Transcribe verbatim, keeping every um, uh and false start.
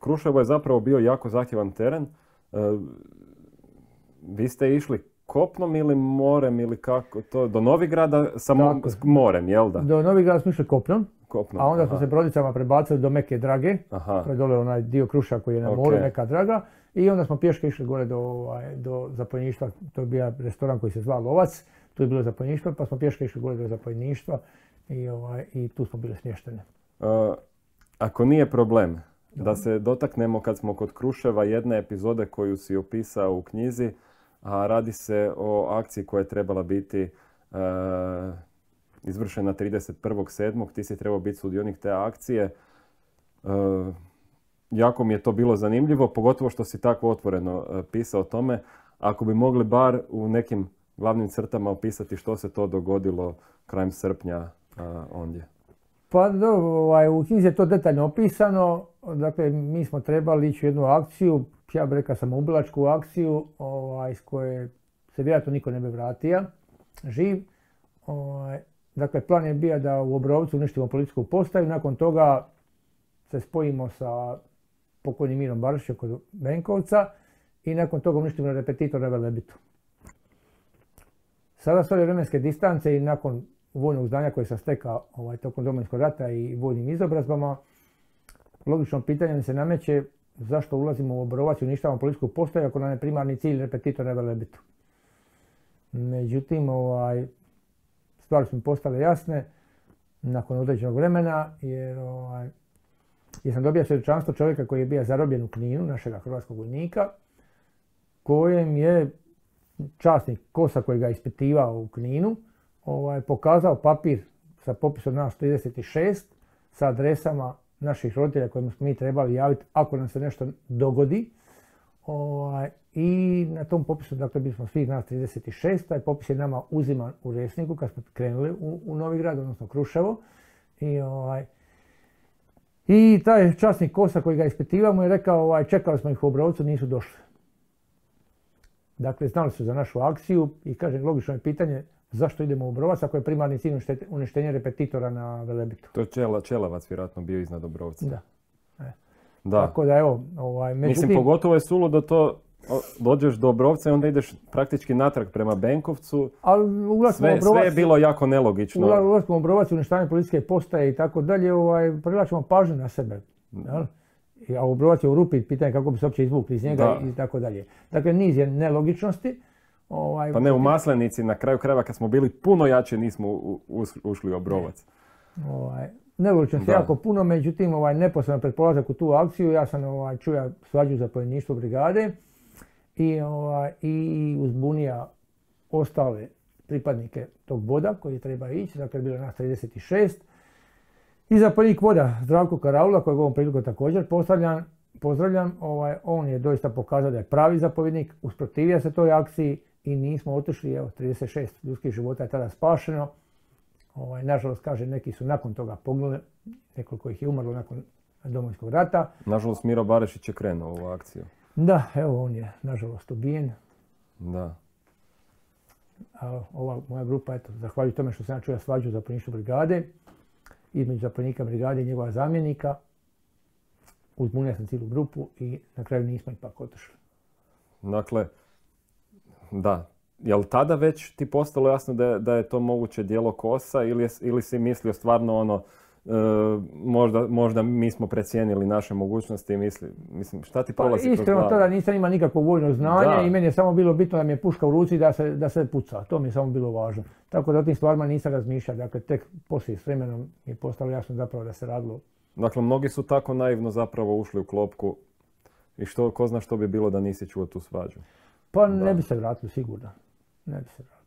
Kruševo je zapravo bio jako zahtjevan teren. E, vi ste išli kopnom ili morem ili kako to? Do Novigrada sa mo morem, jel da? Do Novigrada smo išli kopnom. Kopnom, a onda aha. smo se brodicama prebacili do Meke Drage. Aha. To je dole onaj dio Kruša koji je na moru, okay. Meka Draga. I onda smo pješke išli gore do, ovaj, do zapovjedništva. To je bio restoran koji se zvao Lovac. Tu je bilo zapovjedništvo, pa smo pješke išli gore do zapovjedništva i, ovaj, i tu smo bili smješteni. Uh, ako nije problem, da se dotaknemo kad smo kod Kruševa jedne epizode koju si opisao u knjizi, a radi se o akciji koja je trebala biti uh, izvršena trideset prvog sedmog Ti si trebao biti sudionik te akcije. Uh, jako mi je to bilo zanimljivo, pogotovo što si tako otvoreno uh, pisao o tome. Ako bi mogli bar u nekim glavnim crtama opisati što se to dogodilo krajem srpnja uh, ondje. Pa do, ovaj, u knjizi je to detaljno opisano. Dakle, mi smo trebali ići u jednu akciju, ja bih rekao samoubilačku akciju, ovaj, s koje se vjerojatno niko ne bi vratio živ. Ovaj, dakle, plan je bio da u Obrovcu uništimo policijsku postaju, nakon toga se spojimo sa pokojnim Mirom Barišićem kod Benkovca i nakon toga uništimo repetitor na Velebitu. Sada s ove vremenske distance i nakon vojnog znanja koje sam stekao ovaj, tokom Domovinskog rata i vojnim izobrazbama, logično pitanje mi se nameće zašto ulazimo u Obrovac i uništavamo policijsku postaju ako nam je primarni cilj repetitor na Velebitu. Međutim, ovaj, stvari su mi postale jasne nakon određenog vremena jer, ovaj, jer sam dobio svjedočanstvo čovjeka koji je bio zarobljen u Kninu, našega hrvatskog vojnika, kojem je časnik Kosa koji ga ispitivao u Kninu ovaj, pokazao papir sa popisom nas trideset šest sa adresama naših roditelja kojima smo mi trebali javiti ako nam se nešto dogodi. Ovaj, I na tom popisu, dakle, bili smo svih nas trideset šest, taj popis je nama uziman u Resniku kad smo krenuli u, u Novigrad, odnosno Kruševo. I, ovaj, i taj časnik Kosa koji ga ispitivao mu je rekao, ovaj, čekali smo ih u Obrovcu, nisu došli. Dakle, znali su za našu akciju i kaže, logično je pitanje zašto idemo u Obrovac ako je primarni cilj uništenje repetitora na Velebitu. To je Čela, Čelavac vjerojatno bio iznad Obrovca. Da. E. Da. Tako da evo, ovaj, međutim... Mislim, pogotovo je suludo to, dođeš do Obrovca i onda ideš praktički natrag prema Benkovcu. Ali sve, Obrovac, sve je bilo jako nelogično. Ulaskom u Obrovac, uništavanje policijske postaje i tako dalje, ovaj, privlačimo pažnju na sebe. Jel? A Obrovac je u rupi, pitanje kako bi se uopće izvukli iz njega da. I tako dalje. Dakle, niz je nelogičnosti. Ovaj, pa ne, u Maslenici, na kraju krajeva kad smo bili puno jače nismo u, u, ušli u Obrovac. Ovaj, nelogičnosti jako puno, međutim, ovaj, neposredno pred polazak u tu akciju ja sam ovaj, čuja svađu zapovjedništvo brigade i, ovaj, i uzbunija ostale pripadnike tog voda koji treba ići, dakle bilo nas trideset šest. I zapovjednik voda Zdravko Karaula, kojeg ovom prilikom također pozdravljam, pozdravljam ovaj, on je doista pokazao da je pravi zapovjednik, usprotivio se toj akciji i nismo otišli, evo, trideset šest ljudskih života je tada spašeno. Ovaj, nažalost, kaže, neki su nakon toga poginuli, nekoliko ih je umrlo nakon Domovinskog rata. Nažalost, Miro Barišić je krenuo u ovu akciju. Da, evo, on je, nažalost, ubijen. Da. A ova moja grupa, eto, zahvaljujući tome što sam ja čuo svađu zapovjedništvu brigade, između zapovjednika brigade i njegova zamjenika, uzbunio sam cijelu grupu i na kraju nismo ipak otišli. Dakle, da. Je li tada već ti postalo jasno da je, da je to moguće djelo Kosa ili, je, ili si mislio stvarno ono, e, možda, možda mi smo precijenili naše mogućnosti i misli, mislim, šta ti prolazi kroz glavu? Iskreno tada nisam imao nikakvo vojno znanje da. I meni je samo bilo bitno da mi je puška u ruci da se, da se puca. To mi je samo bilo važno. Tako da o tim stvarima nisam razmišljao. Dakle, tek poslije s vremenom mi je postalo jasno zapravo da se radilo. Dakle, mnogi su tako naivno zapravo ušli u klopku i što, ko zna što bi bilo da nisi čuo tu svađu. Pa da. Ne bi se vratili sigurno. Ne bi se vratili.